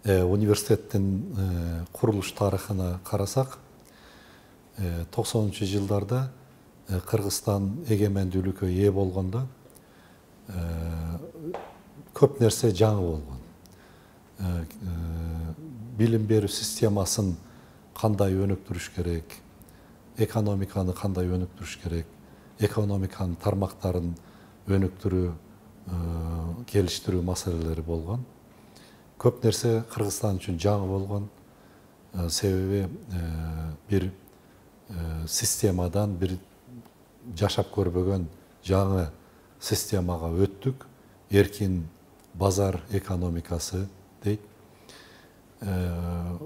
университеттин курулуш тарыхына карасак, 90-жылдарда Кыргызстан эгемендүүлүккө ээ болгондо көп нерсе жаңы болгон. Билим берүү системасын кандай өнүктүрүш керек, экономиканы кандай өнүктүрүш керек, экономиканын тармактарын өнүктүрүү, келиштирүү маселелери болгон. Көп нерсе Кыргызстан үчүн жаңы болгон. Себеби бир системадан бир жашап көрбөгөн жаңы системага өттүк. Эркин базар экономикасы дейт.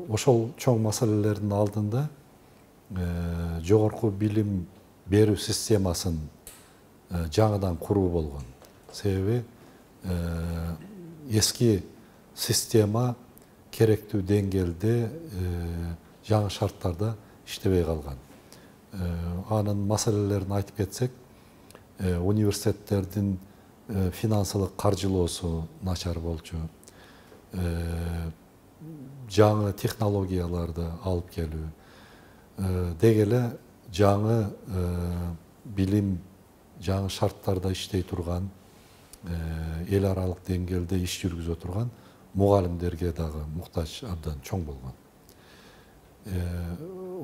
Ошол чоң маселелердин алдында жогорку билим берүү системасын жаңыдан куруу болгон. Себеби эски система керектүү деңгээлде жаңы шарттарда иштебей калган. Анын маселелерин айтып кетсек, университеттердин финансылык каржылоосу начар болчу. Жаңы технологияларды алып келүү, деги эле жаңы билим, жаңы шарттарда иштей турган, эл аралык деңгээлде иш жүргүзө турган мугалимдерге дагы муктаж абдан чоң болгон.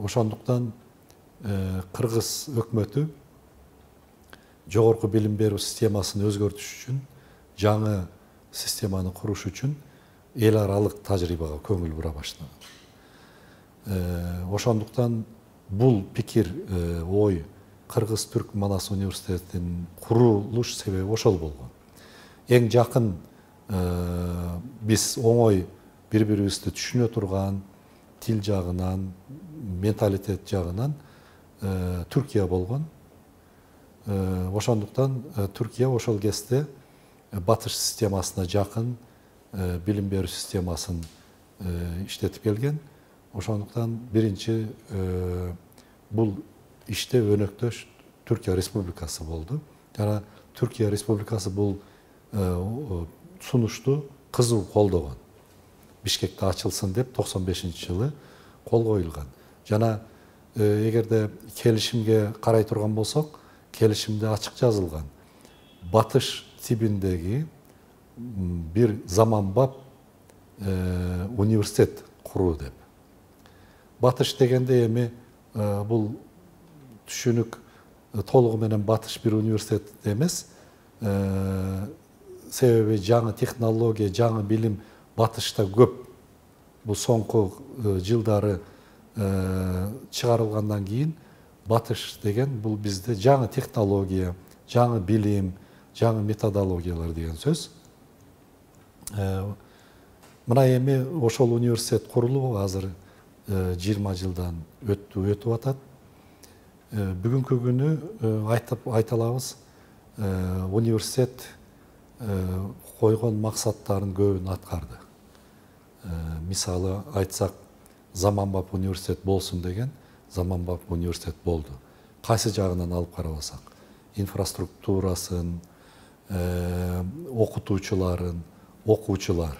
Ошондуктан Кыргыз өкмөтү жогорку билим берүү системасын өзгөртүш үчүн, жаңы системаны куруш үчүн эл аралык тажрыйбага көңүл бура баштаган. Ошондуктан бул пикир, ой Кыргыз-Түрк Манас университетинин курулуш себеби ошол болгон. Эң жакын биз оңой бири-бирибизди түшүнө турган тил жагынан, менталитет жагынан Түркия болгон. Ошондуктан Түркия ошол кезде батыш системасына жакын билим берүү системасын иштетип келген. Ошондуктан биринчи бул иште өнөктөш Түркия Республикасы болду. Жана Түркия Республикасы бул сунушту кызуу колдогон. Бишкекте ачылсын деп 95-жылы кол коюлган. Жана эгерде келишимге карай турган болсок, келишимде ачык жазылган. Батыш тибиндеги бир заманбап университет куруу деп. Батыш дегенде эми бул түшүнүк толугу менен батыш бир университет эмес. Себеби жаңы технология, жаңы билим батышта көп. Бул соңку жылдары чыгарылгандан кийин батыш деген бул бизде жаңы технология, жаңы билим, жаңы методологиялар деген сөз. Мына эми ошол университет курулуп азыр 20 жылдан өтүп атат. Бүгүнкү күнү айта алабыз, университет койгон максаттарын көбүн аткарды. Мисалы айтсак, заманбап университет болсун деген, заманбап университет болду. Кайсы жагынан алып карабасак, инфраструктурасын, окутуучуларын, окуучулар,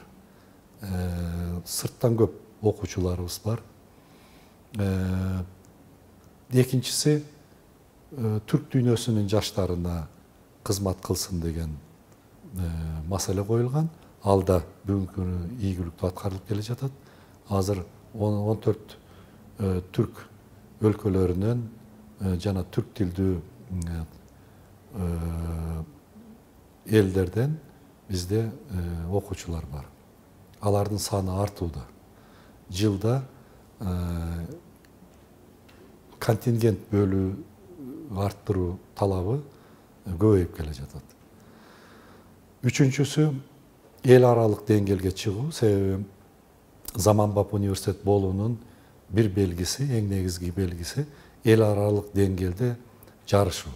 сырттан көп окуучуларыбыз бар. Экинчиси, түрк дүйнөсүнүн жаштарына кызмат кылсын деген маселе коюлган. Алда бүгүнкү күнү ийгиликтүү аткарылып келе жатат. Азыр 14 түрк өлкөлөрүнөн жана түрк тилдүү элдерден бизде окуучулар бар. Алардын саны артууда. Жылда контингент бөлүү арттыруу талабы көбөйүп келе жатат. Үчүнчүсү, эл аралык деңгээлге чыгуу. Себеби заманбап университет болуунун бир белгиси, эң негизги белгиси эл аралык деңгээлде жарышуу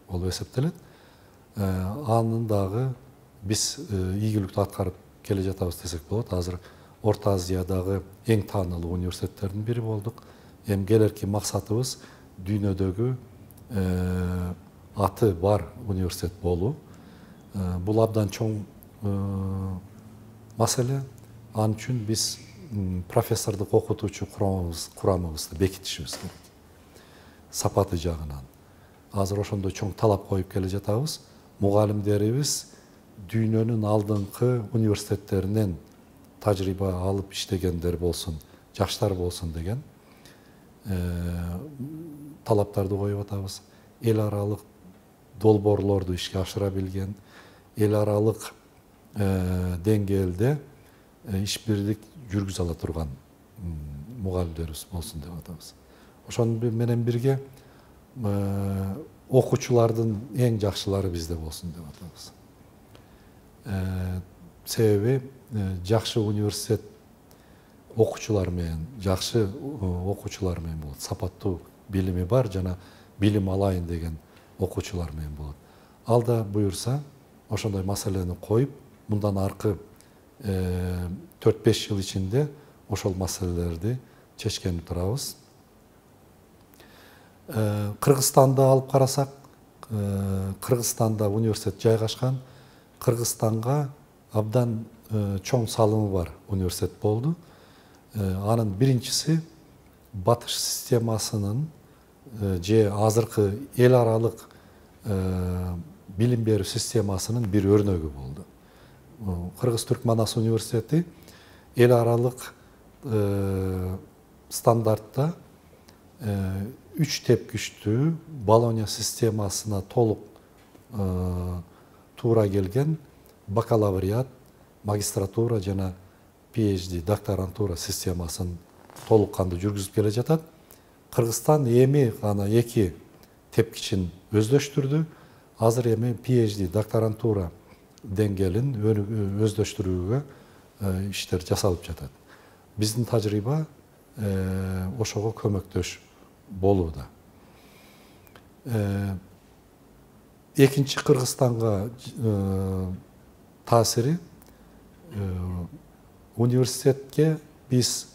болуп эсептелет. Анын дагы биз ийгиликтүү аткарып келе жатабыз десек болот. Азыр Орто Азиядагы эң таанылуу университеттердин бири болдук. Эми келерки максатыбыз дүйнөдөгү аты бар университет болуу. Бул абдан чоң маселе. Ал үчүн биз профессордук окутуучу курамыбызды бекитишибиз керек. Сапаты жагынан. Азыр ошондой чоң талап коюп келе жатабыз. Мугалимдерибиз дүйнөнүн алдыңкы университеттеринен тажрыйба алып иштегендер болсун, жаштар болсун деген талаптарды коюп атабыз. Эл аралык долбоорлорду ишке ашыра билген, эл аралык деңгээлде иш бирлик жүргүзө ала турган мугалимдерибиз болсун деп атабыз. Ошону менен бирге окуучулардын эң жакшылары бизде болсун деп атабыз. Себеби жакшы университет окуучулар менен, жакшы окуучулар менен болот. Сапаттуу билими бар жана билим алайын деген окуучулар менен болот. Ал да буюрса ошондой маселени коюп, мындан аркы 4-5 жыл ичинде ошол маселелерди чечкени турабыз. Кыргызстанды алып карасак, Кыргызстанда университет жайгашкан. Кыргызстанга абдан чоң салымы бар университет болду. Анын биринчиси батыш системасынын же азыркы эл аралык билим берүү системасынын бир өрнөгү болду. Кыргыз-Түрк Манас университети эл аралык стандартта 3 тепкичтүү Болония системасына толук туура келген бакалавриат, магистратура жана PhD докторантура системасын толук кандуу жүргүзүп келе жатат. Кыргызстан эми гана 2 тепкичин өздөштүрдү. Азыр эми PhD докторантура деңгээлин өздөштүрүүгө иштер жасалып жатат. Биздин тажрыйба ошого көмөктөш болууда. Экинчи Кыргызстанга таасири университетке биз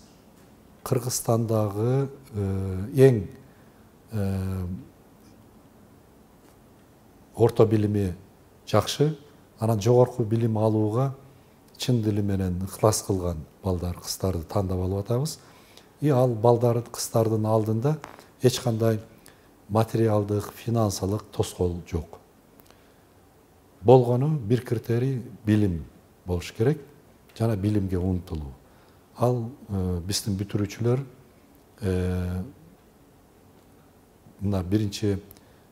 Кыргызстандагы эң орто билими жакшы, анан жогорку билим алууга чын дили менен ыктылас кылган балдар, кыздарды тандап алып атабыз. Ал балдар, кыздардын алдында эч кандай материалдык, финансылык тоскоол жок. Болгону бир критерий билим болуш керек жана билимге умтулуу. Ал биздин бүтүрүүчүлөр мына биринчи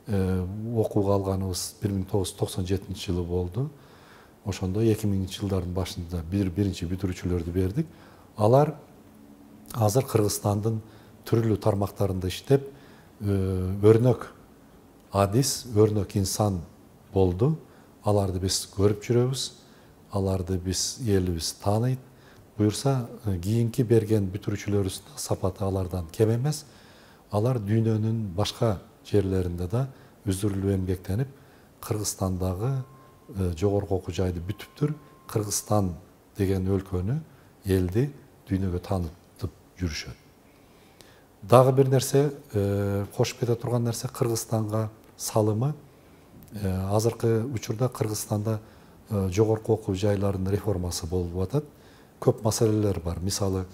окууга алганыбыз 1997 жылы болду. Ошондо 2000 жылдардын башында биринчи бүтүрүүчүлөрдү бердик. Алар азыр Кыргызстандын түрлүү тармактарында иштеп, өрнөк адис, өрнөк инсан болду. Аларды биз көрүп жүрөбүз. Аларды биз элибиз тааныйт. Буюрса, кийинки берген бүтүрүүчүлөрүбүздүн сапаты алардан кем эмес. Алар дүйнөнүн башка жерлеринде да үзүрлүү эмгектенип, Кыргызстандагы жогорку окуу жайды бүтүптүр. Кыргызстан деген өлкөнү, элди дүйнөгө таанытып жүрүшөт. Дагы бир нерсе, кошуп кете турган нерсе, Кыргызстанга салымы. Азыркы учурда Кыргызстанда жогорку окуу жайларынын реформасы болуп атат. Көп маселелер бар. Мисалы,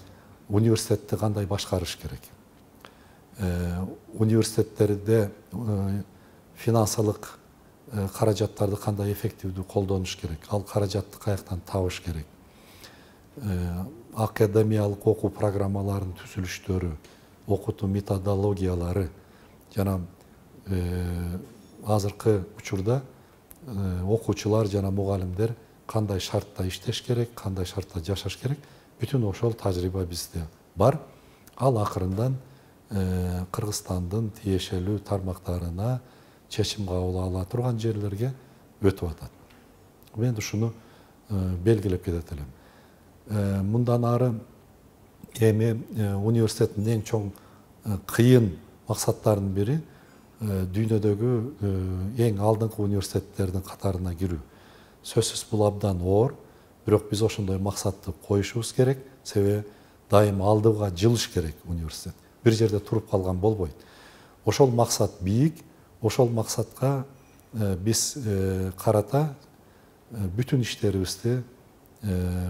университетти кандай башкарыш керек? Университеттерде финансылык каражаттарды кандай эффективдүү колдонуш керек? Ал каражатты каяктан табыш керек? Академиялык окуу программаларынын түзүлүштөрү, окутуу методологиялары жана азыркы учурда окуучулар жана мугалимдер кандай шартта иштеш керек, кандай шартта жашаш керек, бүтүн ошол тажрыйба бизде бар. Ал акырындан Кыргызстандын тиешелүү тармактарына чечим кабыл ала турган жерлерге өтүп атат. Мен ушуну белгилеп кетет элем. Мындан ары эми университеттин эң чоң кыйын максаттарынын бири дүйнөдөгү эң алдыңкы университеттердин катарына кирүү. Сөзсүз бул абдан оор, бирок биз ошондой максатты коюшубуз керек. Себеби дайым алдыга жылыш керек университет. Бир жерде туруп калган болбойт. Ошол максат бийик, ошол максатка биз карата бүтүн иштерибизди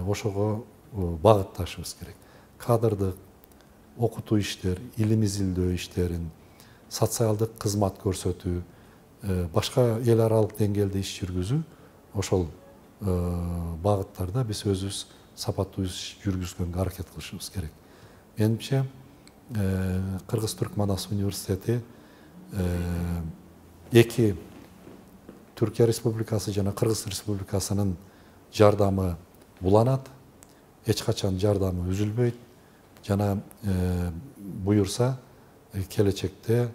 ошого багытташыбыз керек. Кадрдык окутуу иштер, илим изилдөө иштерин, социалдык кызмат көрсөтүү, башка эл аралык деңгээлде иш жүргүзүү, ошол багыттарда биз өзүбүз сапаттуу иш жүргүзгөнгө аракет кылышыбыз керек. Менимче Кыргыз-Түрк Манас университети эки Түркия Республикасы жана Кыргыз Республикасынын жардамы буланат, эч качан жардамы үзүлбөйт жана буюрса келечекте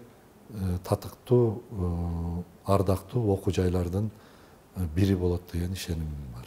татыктуу, ардактуу окуу жайлардын бири болот деген ишенимим бар.